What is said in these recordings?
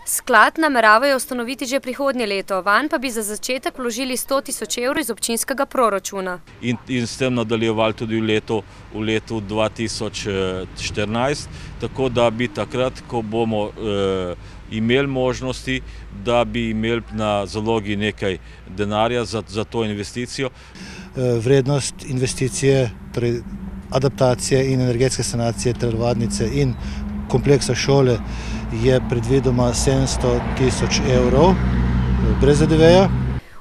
Sklad nameravajo ustanoviti že prihodnje leto, vanj pa bi za začetek vložili 100 tisoč evrov iz občinskega proračuna. In s tem nadaljevali tudi v letu 2014, tako da bi takrat, ko bomo imeli možnosti, da bi imeli na zalogi nekaj denarja za to investicijo. Vrednost investicije, torej adaptacije in energetske sanacije telovadnice in kompleksa šole je predvidoma 700 tisoč evrov brez DDV-ja.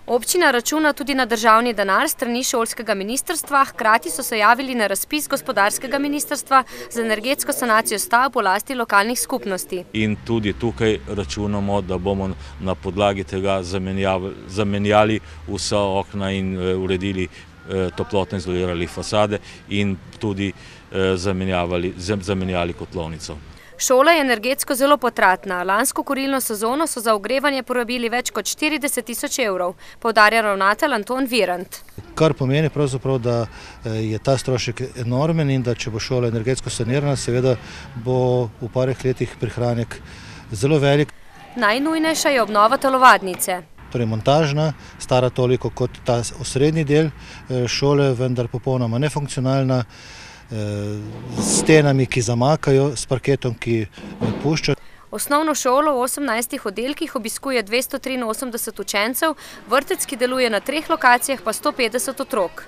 Občina računa tudi na državni denar strani šolskega ministrstva, hkrati so se javili na razpis gospodarskega ministrstva za energetsko sanacijo stavb v lasti lokalnih skupnosti. In tudi tukaj računamo, da bomo na podlagi tega zamenjali vsa okna in uredili toplotno izolirali fasade in tudi zamenjali kotlovnico. Šola je energetsko zelo potratna. Lansko kurilno sezono so za ogrevanje porabili več kot 40 tisoč evrov, poudarja ravnatelj Anton Virant. Kar pomeni pravzaprav, da je ta strošek enormen in da če bo šola energetsko sanirana, seveda bo v parih letih prihranek zelo velik. Najnujnejša je obnova telovadnice. Torej montažna, stara toliko kot ta osrednji del šole, vendar popolnoma nefunkcionalna, s stenami, ki zamakajo, s parketom, ki pušča. Osnovno šolo v 18 oddelkih obiskuje 283 učencev, vrtec, ki deluje na 3 lokacijah, pa 150 otrok.